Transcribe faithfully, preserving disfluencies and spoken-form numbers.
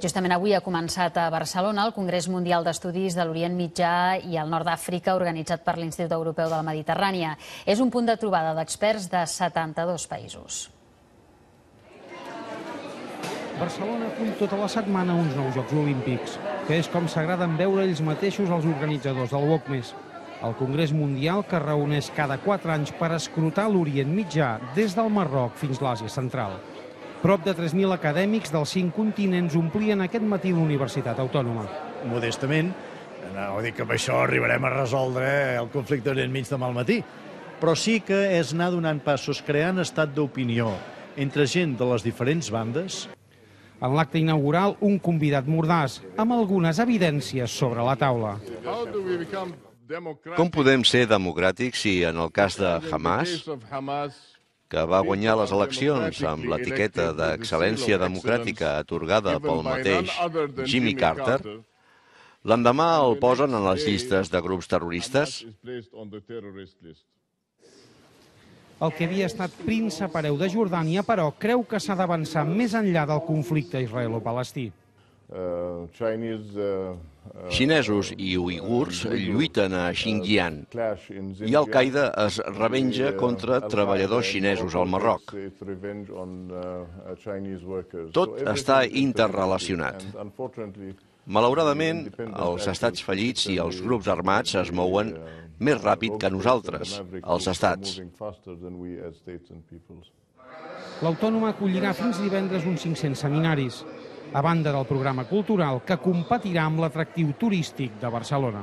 Justament avui ha començat a Barcelona el Congrés Mundial d'Estudis de l'Orient Mitjà i el Nord d'Àfrica organitzat per l'Institut Europeu de la Mediterrània. És un punt de trobada d'experts de setanta-dos països. Barcelona acull tota la setmana uns nous Jocs Olímpics, que és com s'agraden veure ells mateixos els organitzadors del WOCMES. El Congrés Mundial que reuneix cada quatre anys per escrutar l'Orient Mitjà des del Marroc fins a l'Àsia Central. Prop de tres mil acadèmics dels cinc continents omplien aquest matí la Universitat Autònoma. Modestament, no dic que amb això arribarem a resoldre el conflicte d'Orient Mig demà al matí, però sí que és anar donant passos, creant estat d'opinió entre gent de les diferents bandes. En l'acte inaugural, un convidat mordaç, amb algunes evidències sobre la taula. Com podem ser democràtics si, en el cas de Hamas, que va guanyar les eleccions amb l'etiqueta d'excel·lència democràtica atorgada pel mateix Jimmy Carter, l'endemà el posen en les llistes de grups terroristes? El que havia estat príncep hereu de Jordània, però, creu que s'ha d'avançar més enllà del conflicte israelo-palestí. Xinesos i uigurs lluiten a Xinjiang i Al-Qaeda es revenja contra treballadors xinesos al Marroc. Tot està interrelacionat. Malauradament, els estats fallits i els grups armats es mouen més ràpid que nosaltres, els estats. L'Autònoma acollirà fins divendres uns cinc-cents seminaris, a banda del programa cultural que competirà amb l'atractiu turístic de Barcelona.